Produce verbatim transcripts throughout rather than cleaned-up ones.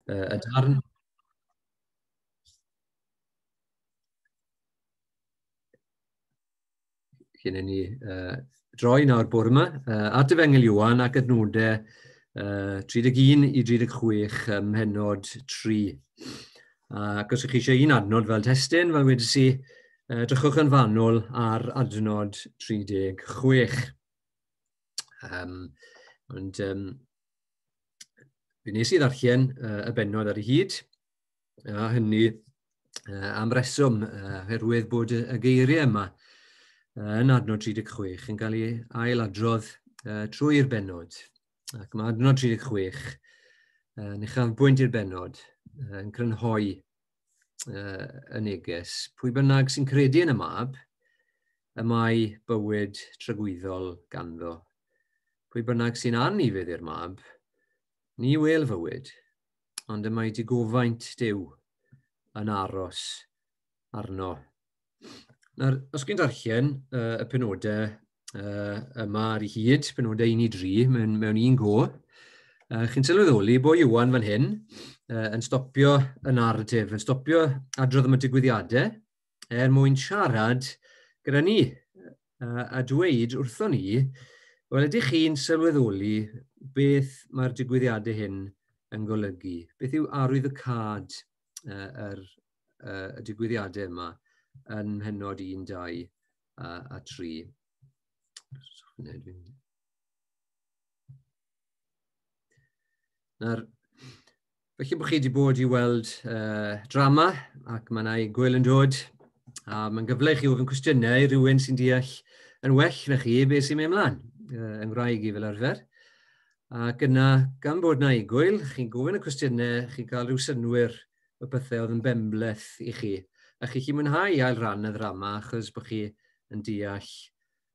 Uh, y darn cyn i ni uh, droi nawr bore yma, uh, at Efengyl Ioan ac adnodau uh, tri deg un i dri deg chwech ym mhennod tri. Ac os ydych chi eisiau un adnod fel testun, fel wedes i, uh, drychwch yn fanwl ar adnod tri deg chwech. Um, ond um, fe wnes i ddarllen uh, y bennod ar ei hyd, a hynny uh, am reswm, uh, oherwydd bod y, y geiriau yma yn adnod tri deg chwech yn cael ei ailadrodd uh, trwy'r bennod. Ac mae adnod tri deg chwech uh, yn uchafbwynt i'r bennod, uh, yn crynhoi uh, y neges. Pwy bynnag sy'n credu yn y mab, y mae bywyd tragwyddol ganddo. Pwy bynnag sy'n anufudd i'r mab, ni wel fywyd, ond y mae digofaint Duw yn aros arno. Nawr, os chi'n darllen uh, y penodau uh, yma ar ei hyd, penodau un i dri, mewn, mewn un go, uh, chi'n sylweddoli bod Ioan fan hyn uh, yn stopio y narratif, yn stopio adrodd am y digwyddiadau, er mwyn siarad gyda ni uh, a dweud wrthon ni, wel, ydych chi'n sylweddoli beth mae'r digwyddiadau hyn yn golygu? Beth yw arwyddocâd uh, yr, uh, y digwyddiadau yma yn mhennod un, dau a, a tri? Nawr, felly bod chi wedi bod i weld uh, drama, ac mae yna gwyl yn dod, a mae'n gyfle i chi ofyn cwestiynau i rywun sy'n deall yn well na chi beth sy'n mynd ymlaen, uh, yng Nghymraeg i fel arfer. Ac yna, gan bod yna egwyl, chi'n gofyn y cwestiynau, chi'n cael rhyw synnwyr o bethau oedd yn benbleth i chi. A chi chi mwynhau ail ran y ddrama achos bod chi yn deall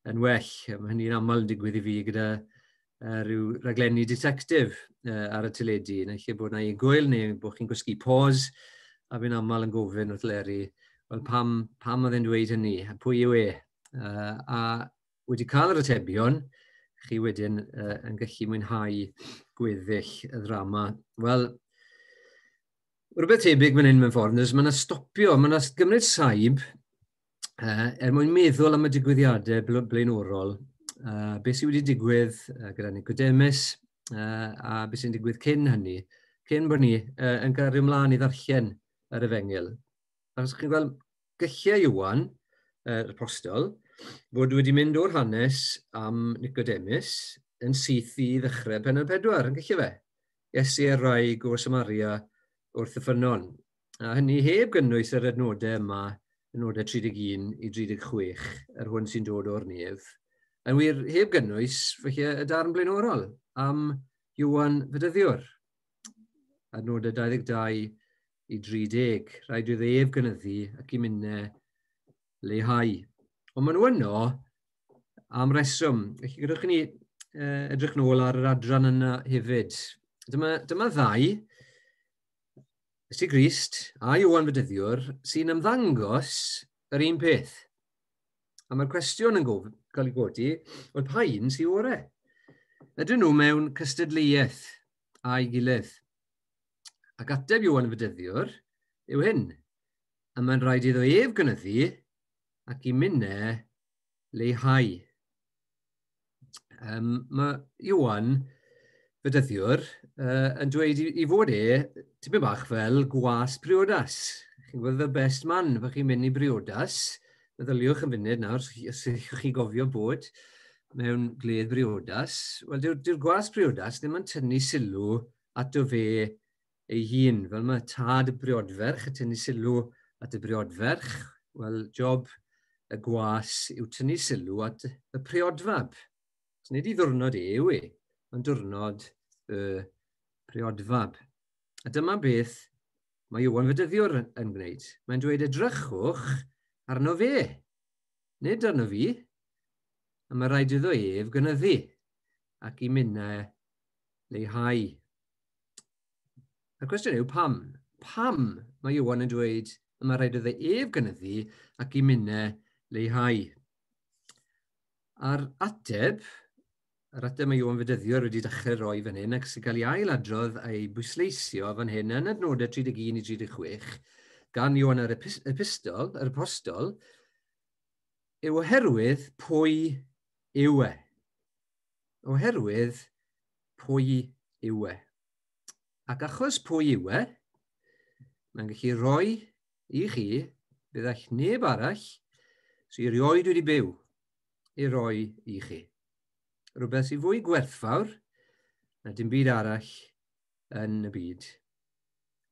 yn well. Mae hynny'n aml yn digwydd i fi gyda uh, rhyw raglenni detective uh, ar y teledu. Neu lle bod yna egwyl neu bod chi'n gwisgu pause, a fi'n aml yn gofyn wrth Leri, wel pam, pam oedd e'n dweud hynny, a pwy yw e? Uh, a wedi cael yr atebion, chi wedyn uh, yn gallu mwynhau gweddill y ddrama. Wel, rhywbeth tebyg fan hyn mewn ffordd, mae yna stopio, mae yna gymryd saib uh, er mwyn meddwl am y digwyddiadau blaenorol, uh, beth sydd wedi digwydd uh, gyda Nicodemus uh, a beth sy'n digwydd cyn hynny, cyn bod ni uh, yn cario ymlaen i ddarllen yr Efengyl. Achos chi'n gweld, gallai Ioan, yr uh, apostol, fod wedi mynd o'r hanes am Nicodemus yn syth i ddechrau pennod pedwar, yn gallu fe? Iesu a'r wraig o Samaria wrth y ffynnon. A hynny heb gynnwys yr adnodau yma, adnodau tri deg un i dri deg chwech, yr hwn sy'n dod o'r nef. Yn wir, heb gynnwys, felly, y darn blaenorol am Ioan Fedyddiwr. Adnodau dau ddeg dau i dri deg. Rhaid iddo ef gynyddu ac i minne leihau. Ond maen nhw yno am reswm. Felly, gadewch i ni edrych nôl ar yr adran yna hefyd. Dyma, dyma ddau, Iesu Grist a Ioan Fedyddiwr, sy'n ymddangos yr un peth. A mae'r cwestiwn yn gof, cael ei godi, wel pa un sy'n orau? Ydyn nhw mewn cystadleuaeth a'i gilydd? Ac ateb Ioan Fedyddiwr yw hyn. A mae'n rhaid iddo ef gynyddu ac i minne leihau. Um, mae Ioan Fedyddiwr uh, yn dweud i, i fod e tipyn bach fel gwas priodas. Chi'n gwybod the best man, fe chi'n mynd i briodas. Meddyliwch yn funud nawr, os ydych chi gofio bod mewn gledd briodas. Wel, dyw'r dyw gwas priodas ddim yn tynnu sylw ato fe ei hun. Fel mae tad y briodferch yn tynnu sylw at y briodferch, wel, job y gwas yw tynnu sylw at y priodfab. So, nid i ddwrnod e yw e, ond diwrnod y priodfab. A dyma beth mae Ioan Fedyddiwr yn gwneud. Mae'n dweud edrychwch arno fe, nid arno fi, a mae rhaid iddo ef gynyddu ac i minne leihau. A'r cwestiwn yw pam? Pam mae Ioan yn dweud y mae rhaid iddo ef gynyddu ac i minne leihau? A'r ateb Yr ateb mae Ioan Fedyddiwr wedi dechrau roi fan hyn ac sy'n cael ei ailadrodd a'i bwysleisio fan hyn yn adnodau tri deg un i tri deg chwech gan Ioan yr epistol, yr apostol, yw oherwydd pwy yw e. Oherwydd pwy yw e. Ac achos pwy yw e, mae'n gallu rhoi i chi, bydd all neb arall sy'n erioed wedi byw i roi i chi. Rhywbeth sy'n fwy gwerthfawr na dim byd arall yn y byd.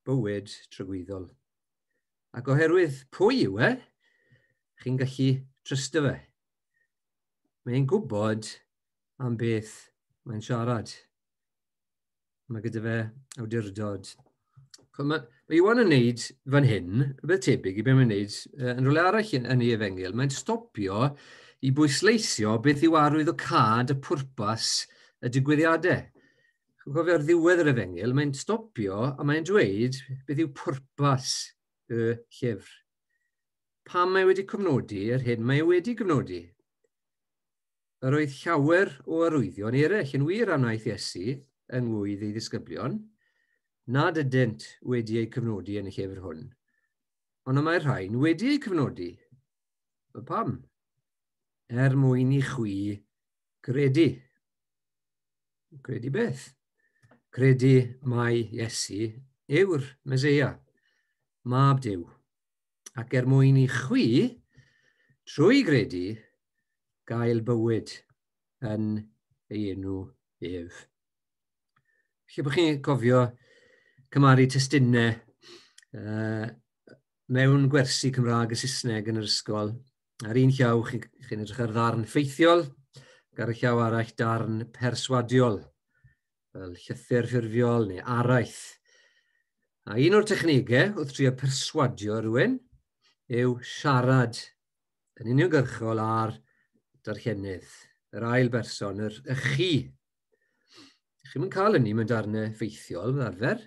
Bywyd tragwyddol. Ac oherwydd pwy yw e, chi'n gallu trysto fe. Mae'n gwybod am beth mae'n siarad. Mae gyda fe awdurdod. Mae, mae Ioan yn wneud fan hyn, rhywbeth tebyg i beth mae'n wneud yn rhywle arall yn, yn ei efengyl. Mae'n stopio i bwysleisio beth yw arwyddocâd y pwrpas y digwyddiadau. Chi'n cofio ar ddiwedd yr efengyl, mae'n stopio a mae'n dweud beth yw pwrpas y llyfr. Pam mae wedi cofnodi yr hyn mae wedi cofnodi? Yr oedd llawer o arwyddion eraill yn wir am wnaeth Iesu yng ngwydd ei ddisgyblion, nad ydynt wedi eu cofnodi yn y llyfr hwn. Ond y mae'r rhain wedi eu cofnodi. Pam? Er mwyn i chwi gredu. Credu beth? Credu mai Iesu yw'r Meseia, Mab Duw. Ac er mwyn i chwi, trwy gredu, gael bywyd yn ei enw ef. Felly bod chi'n cofio cymharu testunau uh, mewn gwersi Cymraeg a Saesneg yn yr ysgol. Ar un llaw, chi'n chi edrych ar ddarn ffeithiol, ac ar y llaw arall darn perswadiol, fel llythyr ffurfiol neu araith. A un o'r technegau wrth trio perswadio rhywun yw siarad yn uniongyrchol ar darllenydd, yr ail berson, yr y chi. Chi'm yn cael hynny mewn darnau ffeithiol fel arfer,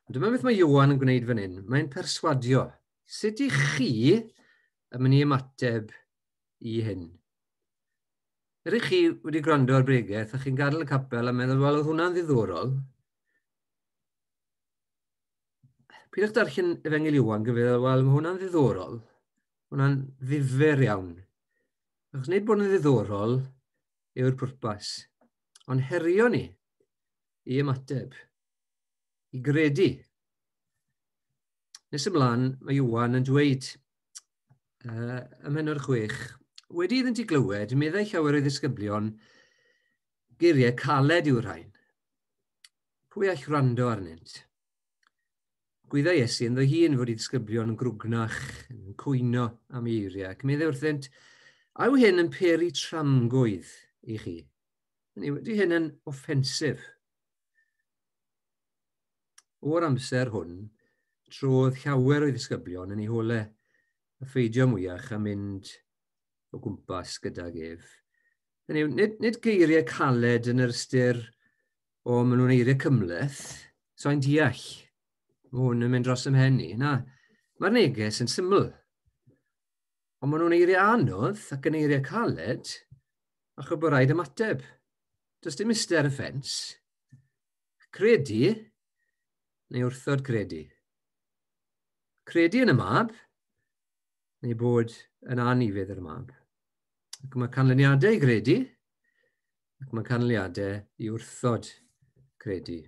ond dyma beth mae Ioan yn gwneud fan hyn. Mae'n perswadio. Sut i chi yn mynd i ymateb i hyn? Ydych chi wedi gwrando ar bregeth a chi'n gadael y capel a meddwl, wel, oedd hwnna'n ddiddorol. Pidwch darllen Efengyl Ioan gyfeddwl, wel, mae hwnna'n ddiddorol. Hwnna'n ddifyr iawn. Achos nid bod yn ddiddorol yw'r pwrpas, ond herio ni i ymateb, i gredu. Nes ymlaen, mae Ioan yn dweud uh, ym mhennod chwech, wedi iddynt i glywed, meddai llawer o'i ddisgyblion, geiriau caled yw'r rhain. Pwy all wrando arnynt? Gwyddai Iesu ynddo hun fod ei ddisgyblion yn grwgnach, yn cwyno am eiriau, ac meddai wrthynt, a yw hyn yn peri tramgwydd i chi? Ydy hyn yn offensif? O'r amser hwn, trodd llawer o'i ddisgyblion yn ei holau, a pheidio mwyach a mynd o gwmpas gydag ef. Hynny yw, nid, nid geiriau caled yn yr ystyr o maen nhw'n eiriau cymhleth, so i'n deall. Mae hwn yn mynd dros ym mhen i. Na, mae'r neges yn syml. Ond maen nhw'n eiriau anodd ac yn eiriau caled, achos bod rhaid ymateb. Does dim iste ar y ffens. Credu neu wrthod credu. Credu yn y mab, neu bod yn anufudd yr mab. Ac mae canlyniadau i gredu, ac mae canlyniadau i wrthod credu.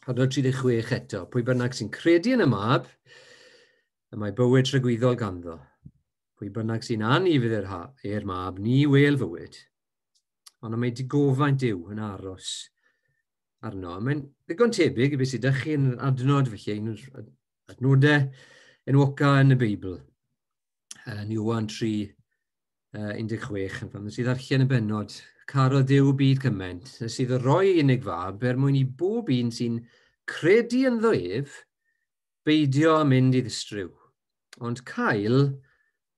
Adnod tri deg chwech eto, pwy bynnag sy'n credu yn y mab, y mae bywyd tragwyddol ganddo. Pwy bynnag sy'n anufudd i'r mab, ni wel fywyd. Ond mae digofaint Duw yn aros arno. Mae'n ddigon tebyg i beth sydd â chi yn adnod, felly un o'r adnodau enwoca yn y Beibl. Yn Ioan tri, un deg chwech, yn pan sydd ddarllen y bennod, carodd Duw byd cymaint, nes iddo roi unig fab er mwyn i bob un sy'n credu ynddo ef, beidio â mynd i ddistryw, ond cael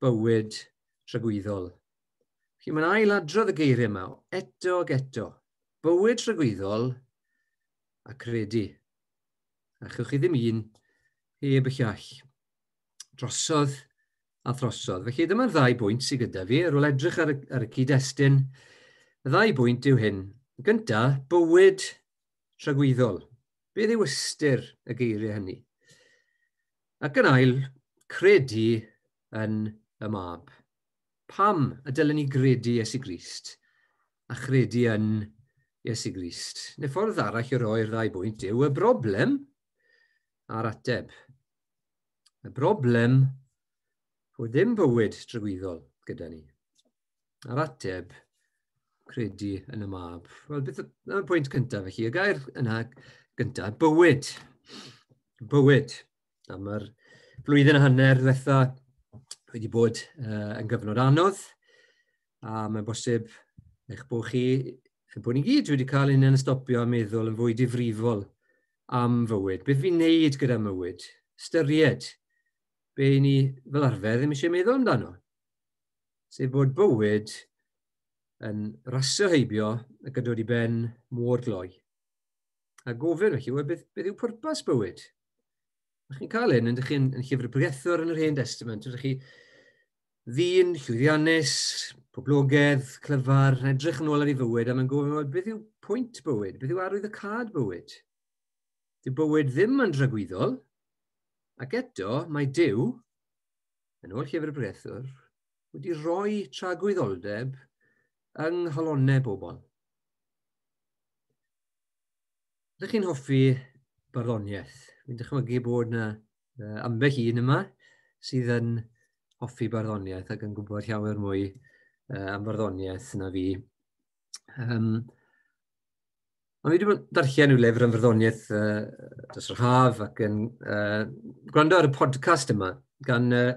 bywyd tragwyddol. Felly mae'n ailadrodd y geiriau yma, eto ac eto, bywyd tragwyddol a credu. A chewch chi ddim un heb y llall. Drosodd a throsodd. Felly dyma'r ddau bwynt sydd gyda fi, ar ôl edrych ar y, ar y cyd-destun. Y ddau bwynt yw hyn. Gynta, bywyd tragwyddol. Beth yw ystyr y geiriau hynny? Ac yn ail, credu yn y mab. Pam y dylen ni gredu Iesu Grist a chredu yn Iesu Grist? Neu ffordd arall i roi'r ddau bwynt yw y broblem a'r ateb. Y broblem fod ddim bywyd tragwyddol gyda ni. A'r ateb, credu yn y mab. Wel, beth y pwynt cyntaf felly? Y gair yna gyntaf, bywyd. Bywyd. A mae'r flwyddyn a hanner ddiwetha wedi bod uh, yn gyfnod anodd, a mae'n bosib eich bod chi, bod ni gyd wedi cael ein yn stopio a meddwl yn fwy difrifol am fywyd. Beth fi'n neud gyda mywyd? Ystyried be ni fel arfer ddim eisiau meddwl amdano. Sef bod bywyd yn rasio heibio ac yn dod i ben mor gloi. A gofyn felly, wel, beth, beth yw pwrpas bywyd? A chi'n cael hyn, ydych chi'n yn llyfr y Pregethwr yn yr Hen Testament, ydych chi ddyn, llwyddiannus, poblogaidd, clyfar, yn edrych yn ôl ar ei fywyd, a mae'n gofyn, wel, beth yw pwynt bywyd? Beth yw arwyddocâd bywyd? Dyw bywyd ddim yn dragwyddol, ac eto mae Duw, yn ôl llyfr y Pregethwr, wedi rhoi tragwyddoldeb yng nghalonnau bobl. Ydych chi'n hoffi barddoniaeth? Fi'n dychmygu bod yna uh, ambell un yma sydd yn hoffi barddoniaeth ac yn gwybod llawer mwy uh, am barddoniaeth na fi. Um, ond fi wedi bod yn darllen yw lyfr am farddoniaeth uh, dros yr haf ac yn uh, gwrando ar y podcast yma gan uh,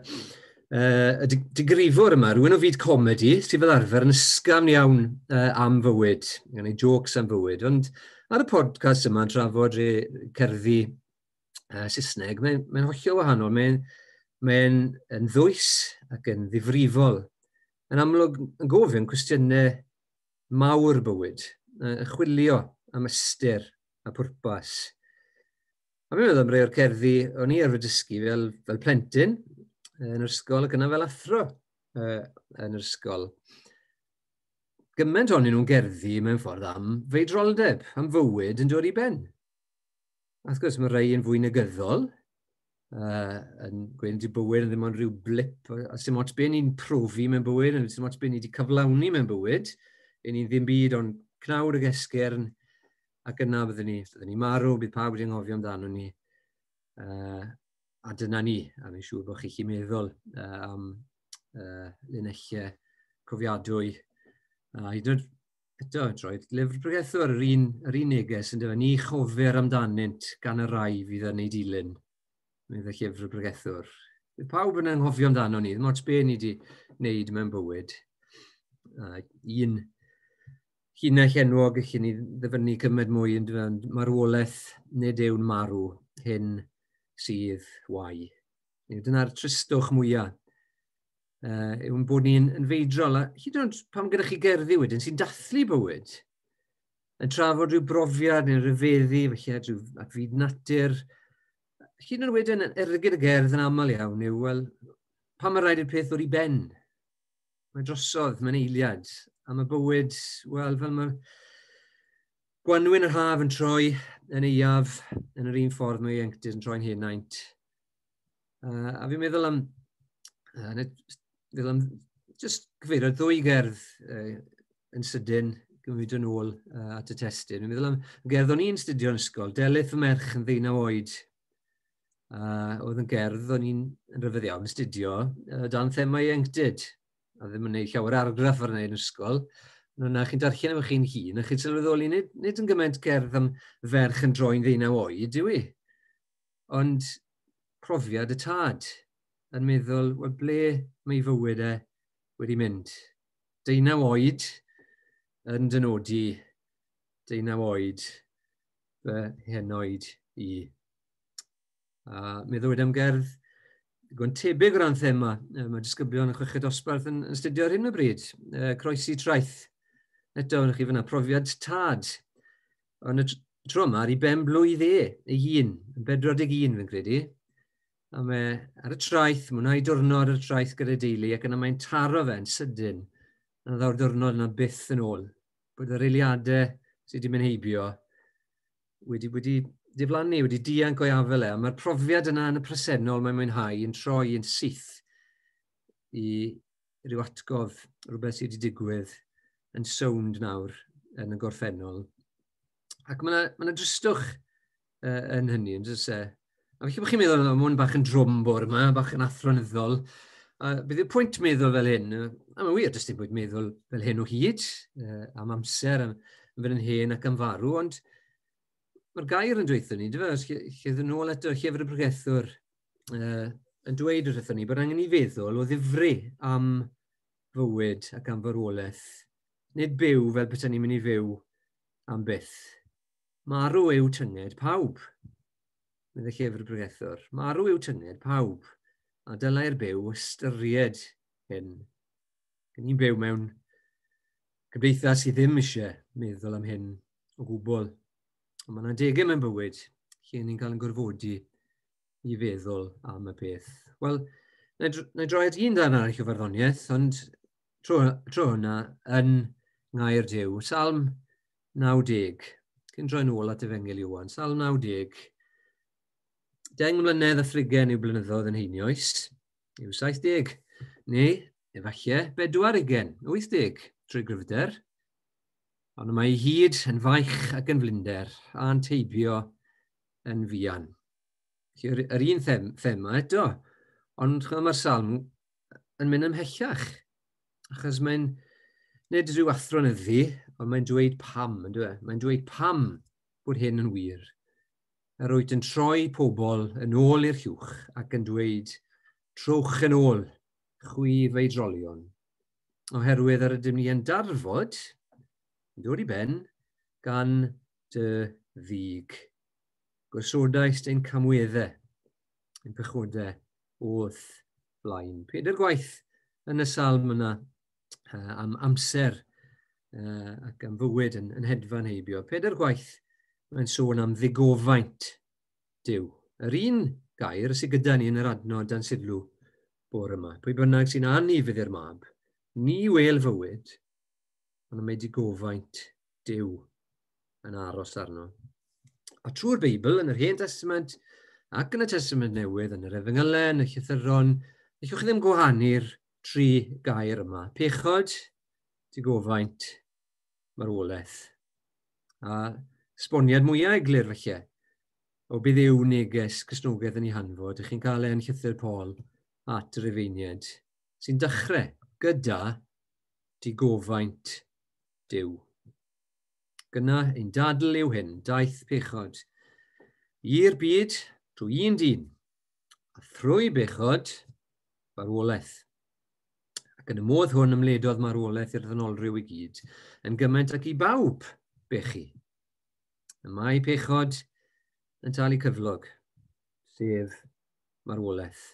uh, y digrifwr yma, rhywun o fyd comedi sydd fel arfer yn ysgafn iawn uh, am fywyd, gan ei jokes am fywyd, ond ar y podcast yma yn trafod cerddi uh, Saesneg, mae'n mae hollol wahanol. Mae'n mae yn ddwys ac yn ddifrifol. Yn amlwg yn gofyn cwestiynau mawr bywyd, yn chwilio am ystyr a pwrpas. A mi'n meddwl am rai o'r cerddi o'n i arfer dysgu fel, fel plentyn yn yr ysgol ac yna fel athro uh, yn yr ysgol. Gymaint ohonyn nhw'n gerddi mewn ffordd am feidroldeb, am fywyd yn dod i ben. A wrth gwrs mae rhai yn fwy negyddol, uh, yn gweud ydy bywyd yn ddim ond rhyw blip, a sy'n ots be ni'n profi mewn bywyd, a sy'n ots be ni wedi cyflawni mewn bywyd, e ni'n ddim byd ond cnawd ag esgyrn, ac yna byddwn ni, byddwn ni marw, bydd pawb wedi anghofio amdano ni. Uh, a dyna ni, a fi'n siŵr bod chi'n meddwl uh, am uh, linellau cofiadwy. A hyd yn oed eto, droed lyfr Pregethwr, yr un, yr un neges yn dweud, ni chofir amdanynt gan y rai fydd yn ei dilyn, meddai llyfr y Pregethwr. Bydd pawb yn anghofio amdano ni, ddim ots be ni wedi wneud mewn bywyd. A un llinell enwog allwn ni ddyfynnu cymaint mwy yn dweud, marwolaeth nid yw'n marw, hyn sydd wae. Dyna'r tristwch mwyaf. Uh, yw'n bod ni'n yn feidrol, a hyd yn oed pam gyda chi gerddi wedyn sy'n dathlu bywyd, yn trafod rhyw brofiad neu rhyfeddu, felly rhyw at fyd natur, hyd yn oed wedyn ergyd y gerdd yn aml iawn yw, wel, pam mae rhaid i'r peth ddod i ben? Mae drosodd, mae'n eiliad, a mae bywyd, wel, fel mae gwanwyn yr haf yn troi yn aeaf, yn yr un ffordd mae ieuenctid yn troi'n henaint. Uh, a fi'n meddwl am, uh, meddwl am just cyfeirio ddwy gerdd uh, yn sydyn, gymryd yn ôl uh, at y testun. Fi'n meddwl am gerdd o'n i'n studio yn ysgol, Delyth fy merch yn ddeunaw oed. Uh, oedd yn gerdd o'n i'n yn rhyfedd iawn yn studio uh, dan thema ieuenctid. A ddim yn gwneud llawer argraff ar wneud yn ysgol. Yna chi'n darllen efo chi'n hun, a chi'n sylweddoli, nid, nid yn gymaint gerdd am ferch yn droi'n ddeunaw oed, yw i. Ond profiad y tad yn meddwl, wel, ble mae ei fywyd e wedi mynd? Deunaw oed yn dynodi, deunaw oed fy henoed i. A meddwl am gerdd digon tebyg o ran thema. Mae disgyblion yn chweched dosbarth yn, yn astudio ar hyn o bryd. Croesi traeth. Eto, wnewch chi fyna, profiad tad. Ond y tro yma, ar ei ben blwydd e, ei hun, yn bedwar deg un fi'n credu. A mae ar y traeth, mwynhau diwrnod ar y traeth gyda deulu, ac yna mae'n taro fe'n sydyn. A ddaw'r diwrnod yna byth yn ôl. Bod yr eiliadau sydd wedi mynd heibio wedi, wedi diflannu, wedi dianc o'i afel e. A mae'r profiad yna yn y presennol mae'n mwynhau yn troi yn syth i ryw atgof, rhywbeth sydd wedi digwydd yn sownd nawr yn y gorffennol. Ac mae yna ma dristwch uh, yn hynny, yn dys e. A felly bod chi'n meddwl, mae hwn bach yn drwm bore yma, bach yn athronyddol. A bydd y pwynt meddwl fel hyn, a mae'n wir, does dim pwynt meddwl fel hyn o hyd, uh, am amser, am, am fynd yn hen ac am farw, ond mae'r gair yn dweud ni, dy fe, lle, lle ddyn nôl eto llyfr y pregethwr uh, yn dweud wrthyn ni bod angen i feddwl o ddifri am fywyd ac am farwolaeth. Nid byw fel beth ni'n mynd i fyw am byth. Marw yw tynged pawb, meddai llyfr y pregethwr. Marw yw tynged pawb, a dylai'r byw ystyried hyn. Gen ni'n byw mewn cymdeithas sydd ddim eisiau meddwl am hyn o gwbl. Ond mae yna degau mewn bywyd lle ni'n cael yn gorfodi i feddwl am y peth. Wel, na i droi at un darn arall o farddoniaeth, ond tro, tro hwnna yn ngair Duw. Salm naw deg. Cyn droi nôl at Efengyl Ioan. Salm naw deg. Deng mlynedd a thrigen yw blynyddoedd yn heinioes, yw saith deg. Neu, efallai, bedwar ugain, wyth deg, trwy gryfder. Ond mae ei hyd yn faich ac yn flinder, a'n teibio yn fuan. Yr, yr un them, thema eto, ond mae'r salm yn mynd ymhellach. Achos mae'n nid rhyw athronyddu, ond mae'n dweud pam, yn dweud. Mae'n dweud pam bod hyn yn wir. Yr wyt yn troi pobl yn ôl i'r llwch ac yn dweud, trowch yn ôl, chwi feidrolion. Oherwydd yr ydym ni yn darfod, yn dod i ben, gan dy ddig. Gosodais ein camweddau, ein pechodau o'th blaen. Pedair gwaith yn y salm yna uh, am amser uh, ac am fywyd yn, yn hedfan heibio. Pedair gwaith mae'n sôn am ddigofaint Duw. Yr un gair sydd gyda ni yn yr adnod dan sylw bore yma. Pwy bynnag sy'n anufudd i'r mab, ni wel fywyd, ond mae digofaint Duw yn aros arno. A trwy'r Beibl, yn yr Hen Testament ac yn y Testament Newydd, yn yr Efengylau, yn y Llythyron, allwch chi ddim gwahanu'r tri gair yma. Pechod, digofaint, marwolaeth. A sboniad mwyaf eglur felly, o bydd yw neges Cristnogaeth yn ei hanfod, ych chi'n cael e yn llythyr Paul at yr Rufeiniaid, sy'n dechrau gyda digofaint Duw. Gyna ein dadl yw hyn, daeth pechod i'r byd trwy un dyn, a thrwy bechod marwolaeth. Ac yn y modd hwn ymledodd marwolaeth i'r ddynolryw i gyd, yn gymaint ac i bawb bechu. Y mae pechod yn talu cyflog, sef marwolaeth.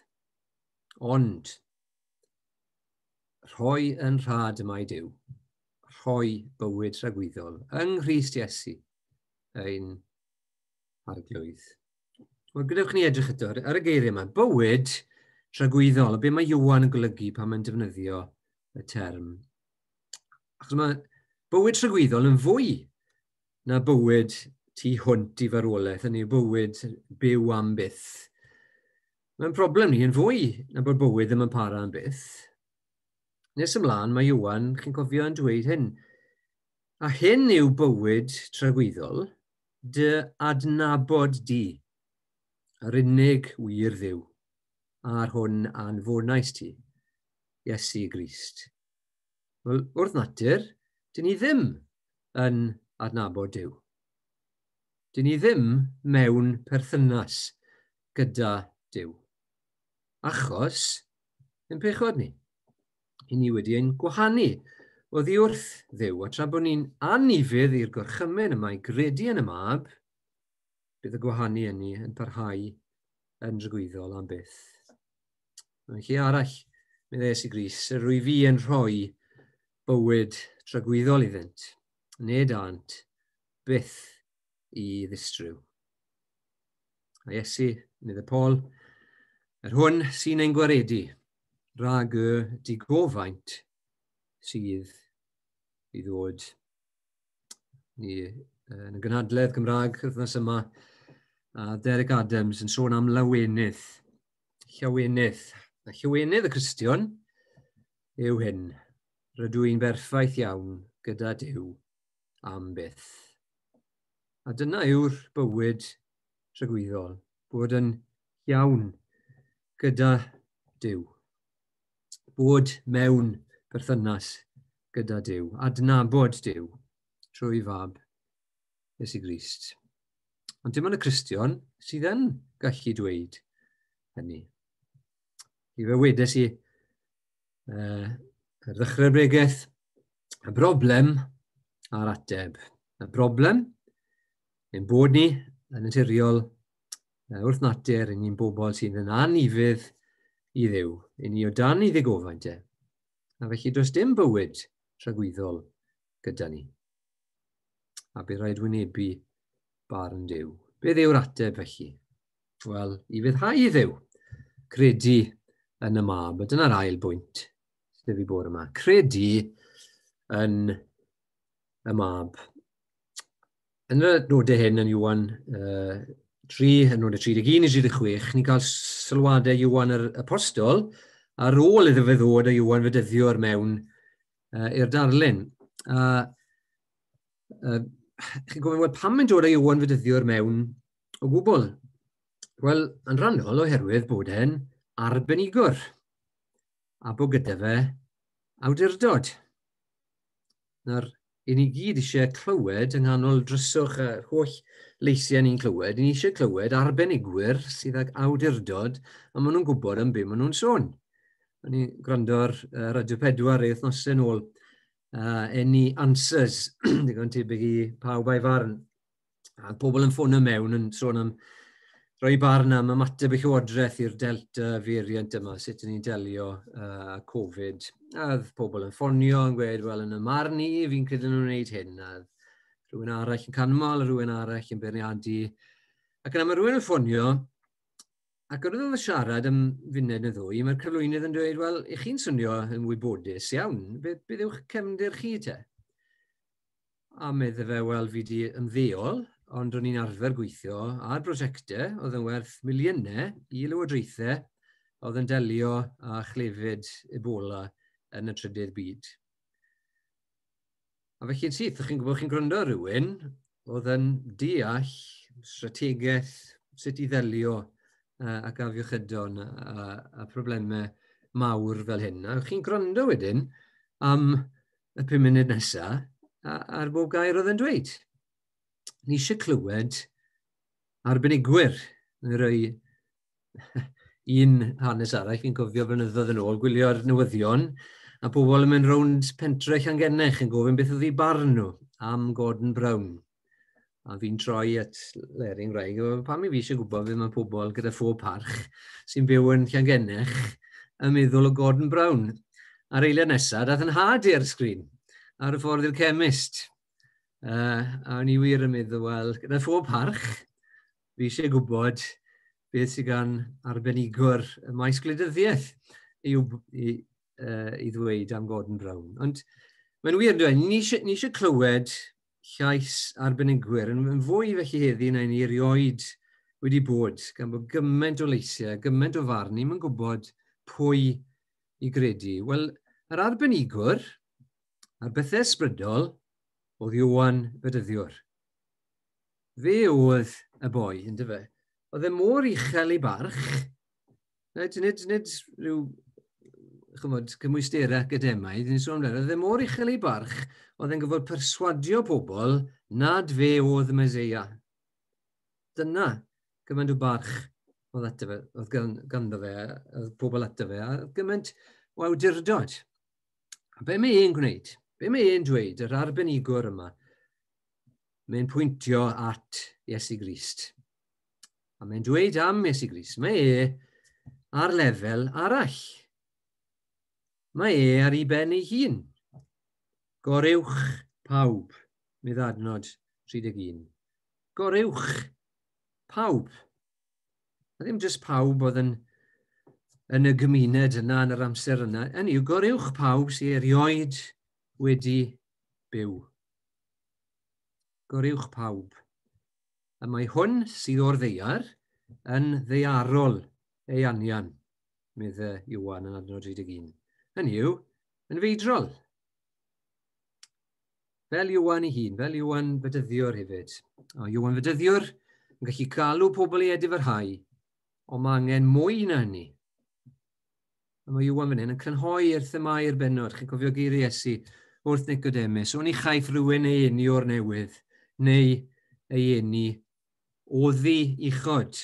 Ond, rhoi yn rhad y mae Duw, rhoi bywyd tragwyddol yng Nghrist Iesu, ein Arglwydd. Wel, gadewch ni edrych eto ar y geiriau yma. Bywyd tragwyddol, a be mae Ioan yn golygu pan mae'n defnyddio y term. Achos mae bywyd tragwyddol yn fwy na bywyd tu hwnt i farwolaeth, hynny yw bywyd byw am byth. Mae'n problem ni yn fwy na bod bywyd ddim yn para am byth. Nes ymlaen mae Ioan, chi'n cofio, yn dweud hyn. A hyn yw bywyd tragwyddol, dy adnabod di, yr unig wir Dduw, a'r hwn anfonais ti, Iesu Grist. Wel, wrth natur, dyn ni ddim yn adnabod Duw. Dyn ni ddim mewn perthynas gyda Duw. Achos, yn pechod ni. I ni wedi ein gwahanu oddi wrth Dduw, a tra bod ni'n anufudd i'r gorchymyn yma i gredu yn y mab, bydd y gwahanu ynni yn parhau yn dragwyddol am byth. Mewn lle arall, meddai Iesu Grist, yr wyf fi yn rhoi bywyd tragwyddol iddynt, nid ânt byth i ddistryw. A Iesu, meddai Paul, yr hwn sy'n ein gwaredu rhag y digofaint sydd i ddod. Ni yn y gynhadledd Gymraeg wythnos yma, a Derek Adams yn sôn am lawenydd. Llawenydd. A llawenydd y Cristion yw hyn. Rydw i'n berffaith iawn gyda Duw am byth. A dyna yw'r bywyd tragwyddol, bod yn iawn gyda Duw. Bod mewn perthynas gyda Duw, adnabod Duw trwy fab Iesu Grist. Ond dim ond y Cristion sydd yn gallu dweud hynny. I fe wedes i uh, ar ddechrau'r bregeth, y broblem a'r ateb. Y broblem ein bod ni yn naturiol wrth natur, yn ni'n bobl sydd yn anufudd i Dduw. Yn ni o dan ei ddigofaint e. A felly does dim bywyd tragwyddol gyda ni. A bydd rhaid wynebu barn Duw. Beth yw'r ateb felly? Wel, i ufuddhau i Dduw. Credu yn y mab. A dyna'r ail bwynt sydd fi bore yma. Credu yn y mab. Yn y nodau hyn yn Ioan uh, tri, yn nodau tri deg un i tri deg chwech, ni'n cael sylwadau Ioan yr Apostol ar ôl iddo fe ddod â Ioan Fedyddiwr mewn uh, i'r darlun. A uh, chi'n gofyn, wel, pam mae'n dod â Ioan Fedyddiwr mewn o gwbl? Wel, yn rhannol oherwydd bod e'n arbenigwr a bod gyda fe awdurdod. Nawr, i ni gyd eisiau clywed yng nghanol dryswch y holl leisiau ni'n clywed, i ni eisiau clywed arbenigwyr sydd ag awdurdod a maen nhw'n gwybod am be maen nhw'n sôn. O'n i'n gwrando ar uh, Radio pedwar ei wythnosau nôl, uh, Any Answers, digon tebyg i Pawb a'i Farn. A pobl yn ffonio mewn yn sôn am rhoi barn am ymateb y Llywodraeth i'r Delta variant yma, sut ydyn ni'n delio uh, Covid. A oedd pobl yn ffonio yn gweud, wel, yn y marn i, fi'n credu nhw'n gwneud hyn. A rhywun arall yn canmol, a rhywun arall yn beirniadu. Ac yna mae rhywun yn ffonio, ac wrth iddo siarad am funud neu ddwy, mae'r cyflwynydd yn dweud, wel, i chi'n swnio yn wybodus iawn, beth, beth yw'ch cefndir chi te? A medde fe, wel, fi di ymddeol, ond o'n i'n arfer gweithio ar brosiectau oedd yn werth miliynau i lywodraethau oedd yn delio â chlefyd Ebola yn y trydydd byd. A felly'n syth, chi'n gwybod chi'n gwrando ar rhywun oedd yn deall strategaeth, sut i ddelio uh, ac afiechydon a, a, a problemau mawr fel hyn. A chi'n gwrando wedyn am y pum munud nesaf ar bob gair oedd yn dweud. Ni eisiau clywed arbenigwyr yn rhoi un hanes arall, fi'n cofio blynyddoedd yn ôl, gwylio'r newyddion, a pobl yn mynd rownd pentre Llangennech yn gofyn beth oedd eu barn nhw am Gordon Brown. A fi'n troi at Leri 'ngwraig, pam i fi eisiau gwybod beth mae pobl gyda phob parch sy'n byw yn Llangennech yn meddwl o Gordon Brown. A'r eiliad nesaf, dath yn nhad i'r sgrin ar y ffordd i'r chemist. Uh, a o'n i wir yn meddwl, wel, gyda phob parch, fi eisiau gwybod beth sydd gan arbenigwr y maes gwleidyddiaeth i, i, uh, i ddweud am Gordon Brown. Ond mae'n wir, dweud, ni eisiau, ni eisiau clywed llais arbenigwyr yn, yn fwy felly heddi na ni erioed wedi bod, gan bod gymaint o leisiau, gymaint o farn, ni'n gwybod pwy i gredu. Wel, yr arbenigwr a'r bethau ysbrydol oedd Ioan Fedyddiwr. Fe oedd y boi, ynddo fe? Oedd e mor uchel ei barch, nid, nid, nid rhyw chymod, cymwysterau academaidd, ni'n sôn amdano, oedd e mor uchel ei barch, oedd e'n gyfod perswadio pobl nad fe oedd y Meseia. Dyna gymaint o barch oedd, ato fe, oedd ganddo fe, oedd pobl ato fe, a gymaint o awdurdod. A be mae e'n gwneud? Be mae e'n dweud, yr arbenigwr yma? Mae'n pwyntio at Iesu Grist. A mae'n dweud am Iesu Grist, mae e ar lefel arall. Mae e ar ei ben ei hun. Goruwch pawb, medd adnod tri deg un. Goruwch pawb. A ddim jyst pawb oedd yn, yn y gymuned yna, yn yr amser yna. Hynny yw, goruwch pawb sydd erioed wedi byw. goruwch pawb. A mae hwn sydd o'r ddaear yn ddaearol ei anian, medde Ioan yn adnod tri deg un. Hynny yw, yn feidrol. Fel Ioan ei hun, fel Ioan Fedyddiwr hefyd. O, Ioan Fedyddiwr yn gallu galw pobl i edifarhau, ond mae angen mwy na hynny. A mae Ioan fan hyn yn crynhoi i'r themâu'r bennod. Chi'n cofio geiriau Iesu wrth Nicodemus, oni chaiff rhywun ei eni o'r newydd, neu ei eni oddi uchod,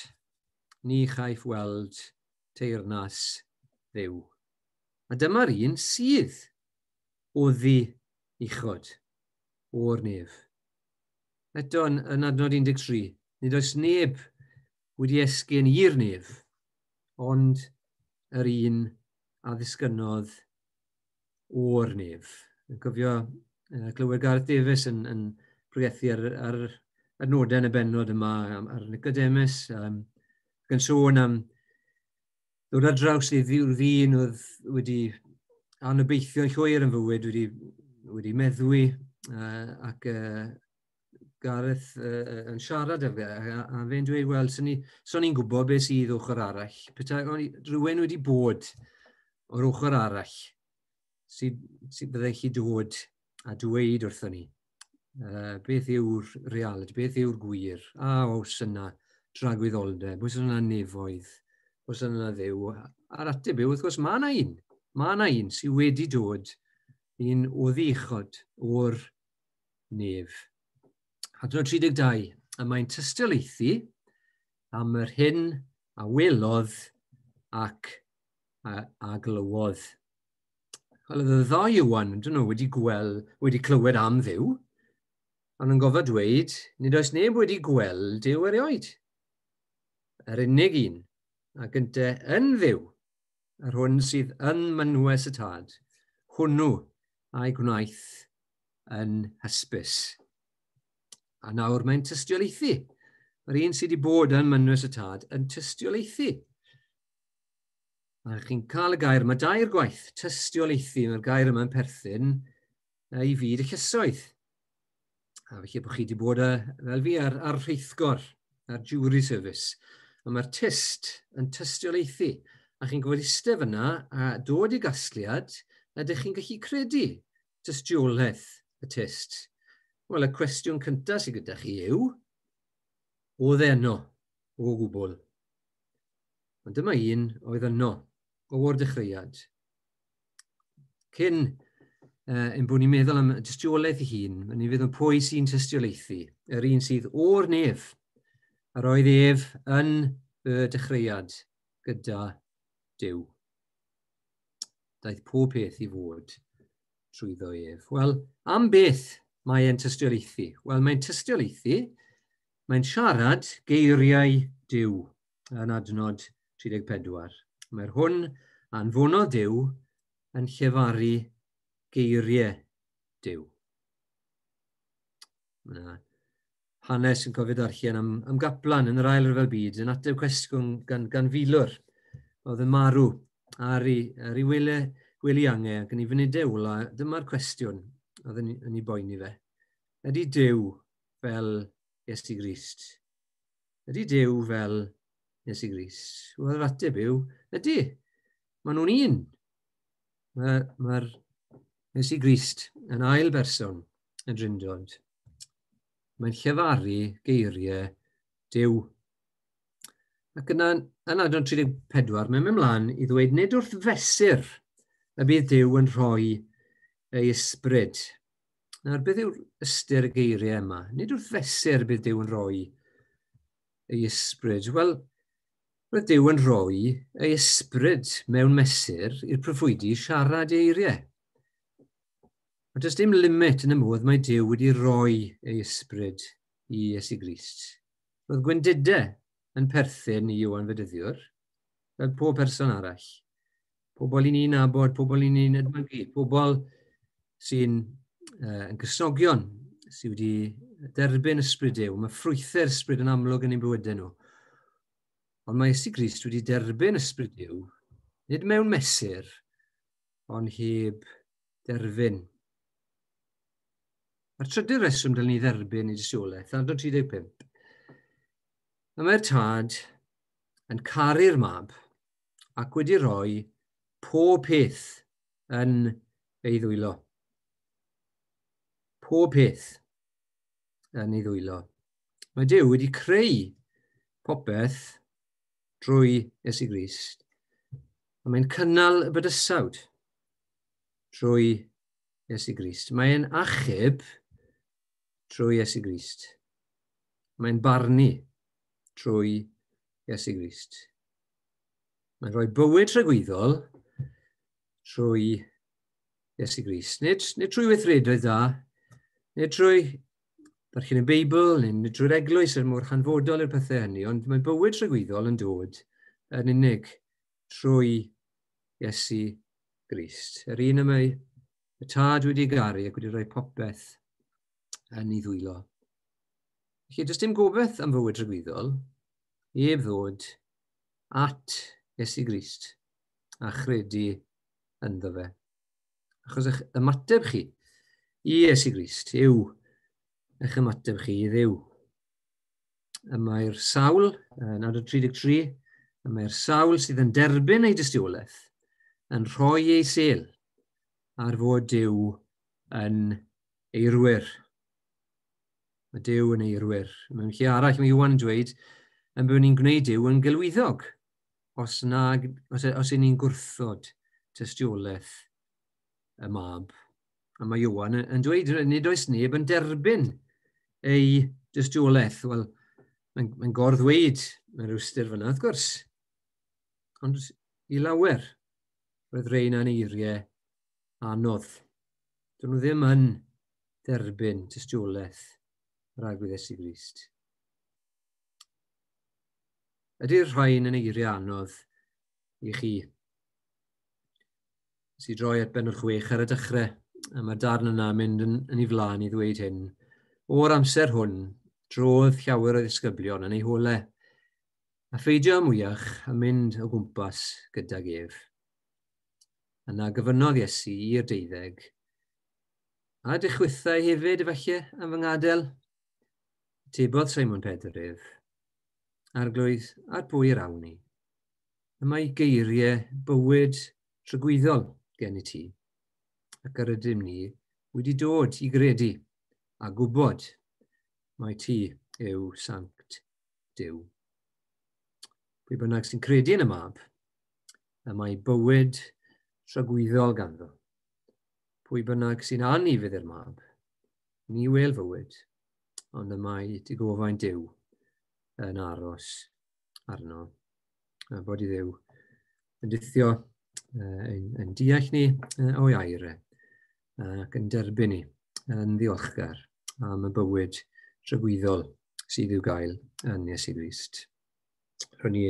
ni chaiff weld teyrnas Dduw. A dyma'r un sydd oddi uchod, o'r nef. Eto yn, yn adnod un deg tri, nid oes neb wedi esgyn i'r nef, ond yr un a ddisgynnodd o'r nef. Yn cofio uh, clywed Gareth Davies yn, yn pregethu ar, ar adnodau yn y bennod yma ar Nicodemus, um, ac yn sôn am ddod ar draws ei ddyn oedd wedi anobeithio'n llwyr yn fywyd, wedi, wedi meddwi, uh, ac uh, Gareth uh, yn siarad â fe, a, a fe'n dweud, wel, so ni'n so ni gwybod beth sydd ochr arall. Petai rhywun wedi bod o'r ochr arall, sydd, sydd byddai chi dod a dweud wrthon ni, uh, beth yw'r realiti, beth yw'r gwir, a oes yna dragwyddoldeb, oes yna nefoedd, oes yna Dduw. A'r ateb yw, wrth gwrs, mae yna un, mae yna un sydd wedi dod un oddi uchod o'r nef. Adnod tri deg dau, a mae'n tystiolaethu am yr hyn a welodd ac a, a glywodd. Wel, oedd y ddau Ioan, dyn nhw, wedi, gwel, wedi clywed am Dduw, ond yn gofod dweud, nid oes neb wedi gweld Duw erioed. Yr unig un, a gynte yn Dduw, yr hwn sydd yn mynwes y tad, hwnnw a'i gwnaeth yn hysbys. A nawr mae'n tystiolaethu. Mae'r un sydd wedi bod yn mynwes y tad yn tystiolaethu. A chi'n cael y gair yma dair gwaith, tystiolaethu, mae'r gair yma'n perthyn i fyd y llysoedd. A felly bod chi wedi bod a, fel fi ar, ar rheithgor, ar jury service. A mae'r tyst yn tystiolaethu. A chi'n gwybod eistedd fyna a dod i gasgliad, ydych chi'n gallu credu tystiolaeth y tyst. Wel, y cwestiwn cyntaf sydd gyda chi yw, oedd e yno o gwbl? Ond dyma un oedd yno o'r dechreuad. Cyn uh, ein bod ni'n meddwl am tystiolaeth ei hun, ni'n feddwl pwy sy'n tystiolaethu, yr un sydd o'r nef, yr oedd ef yn y dechreuad gyda Duw. Daeth pob peth i fod trwyddo ef. Wel, am beth mae e'n tystiolaethu? Wel, mae'n tystiolaethu, mae'n siarad geiriau Duw yn adnod tri deg pedwar. Mae'r hwn anfonodd Duw yn llefaru geiriau Duw. Mae yna hanes yn cofio darllen am, am gaplan yn yr Ail Ryfel Byd yn ateb cwestiwn gan, gan filwr oedd yn marw ar ei, ar ei wele, wely ange ac yn ei funudau ola. Dyma'r cwestiwn oedd yn, yn ei boeni fe. Ydy Duw fel Iesu Grist? Ydy Duw fel Iesu Grist? Wel, yr ateb yw, ydy. Maen nhw'n un. Mae'r ma Iesu Grist yn ail berson yn Drindod. Mae'n llefaru geiriau Duw. Ac yna, yn adnod tri deg pedwar, mae'n mynd mlaen i ddweud nid wrth fesur y bydd Duw yn rhoi ei ysbryd. Nawr, beth yw'r ystyr y geiriau yma? Nid wrth fesur y bydd Duw yn rhoi ei ysbryd. Wel, roedd Duw yn rhoi ei ysbryd mewn mesur i'r proffwydi siarad eiriau. Ond does dim limit yn y modd mae Duw wedi rhoi ei ysbryd i Iesu Grist. Roedd gwendidau yn perthyn i Ioan Fedyddiwr, fel pob person arall. Pobl i ni'n nabod, pobl i ni'n edmygu, pobl sy'n uh, yn Gristnogion, sydd wedi derbyn ysbryd Duw. Mae ffrwythau'r ysbryd yn amlwg yn eu bywydau nhw. Ond mae Iesu Grist wedi derbyn ysbryd Duw, nid mewn mesur, ond heb derfyn. A'r trydydd reswm dylen ni dderbyn ei dystiolaeth, adnod tri deg pump. Y mae'r tad yn caru'r mab ac wedi rhoi pob peth yn ei ddwylo. Pob peth yn ei ddwylo. Mae Duw wedi creu popeth drwy Iesu Grist. A mae'n cynnal y bydysawd drwy Iesu Grist. Mae'n achub trwy Iesu Grist. Mae'n barnu trwy Iesu Grist. Mae'n rhoi bywyd tragwyddol trwy Iesu Grist. Nid, nid trwy weithredoedd da, nid trwy darllen y Beibl, neu nid trwy'r eglwys er mor hanfodol i'r pethau hynny, ond mae bywyd tragwyddol yn dod yn unig trwy Iesu Grist. Yr un y mae y tad wedi garu ac wedi rhoi popeth yn ei ddwylo. Felly, does dim gobaith am fywyd tragwyddol heb ddod at Iesu Grist a chredu ynddo fe. Achos eich ymateb chi i Iesu Grist yw eich ymateb chi i Dduw. Y mae'r sawl, yn adnod tri deg tri, y mae'r sawl sydd yn derbyn ei dystiolaeth yn rhoi ei sêl ar fod Duw yn eirwir. Mae Duw yn eirwir. Mewn lle arall mae Iwan yn dweud yn bod ni'n gwneud Duw yn gelwyddog os, nag, os, os y'n ni'n gwrthod tystiolaeth y mab. A mae Iwan yn dweud, nid oes neb yn derbyn ei dystiolaeth. Wel, mae'n mae gorddweud mewn rhyw ystyr fyna, wrth gwrs. Ond i lawer, roedd rhein yn eiriau anodd. Dyn nhw ddim yn derbyn tystiolaeth yr Arglwydd Iesu Grist. Ydy'r rhain yn eiriau anodd i chi? Nes i droi at bennod chwech ar y dechrau, a mae'r darn yna mynd yn, yn ei flaen i ddweud hyn. O'r amser hwn, drodd llawer o ddisgyblion yn ei holau, a pheidio mwyach a mynd o gwmpas gydag ef. Yna gofynnodd Iesu i'r deuddeg, a ydych chwithau hefyd efallai am fy ngadael? Atebodd Simon Pedr ef, Arglwydd, ar bwy yr awn ni? Y mae geiriau bywyd tragwyddol gen i ti, ac yr ydym ni wedi dod i gredu a gwybod mai ti yw Sanct Duw. Pwy bynnag sy'n credu yn y mab, y mae bywyd tragwyddol ganddo. Pwy bynnag sy'n anufudd i'r mab, ni wel fywyd, ond y mae digofain Duw yn aros arno. A bod i Dduw yn dithio, yn, yn deall ni o'i air ac yn derbyn ni yn ddiolchgar am y bywyd tragwyddol sydd i'w gael yn Iesu Grist. Rwy'n ni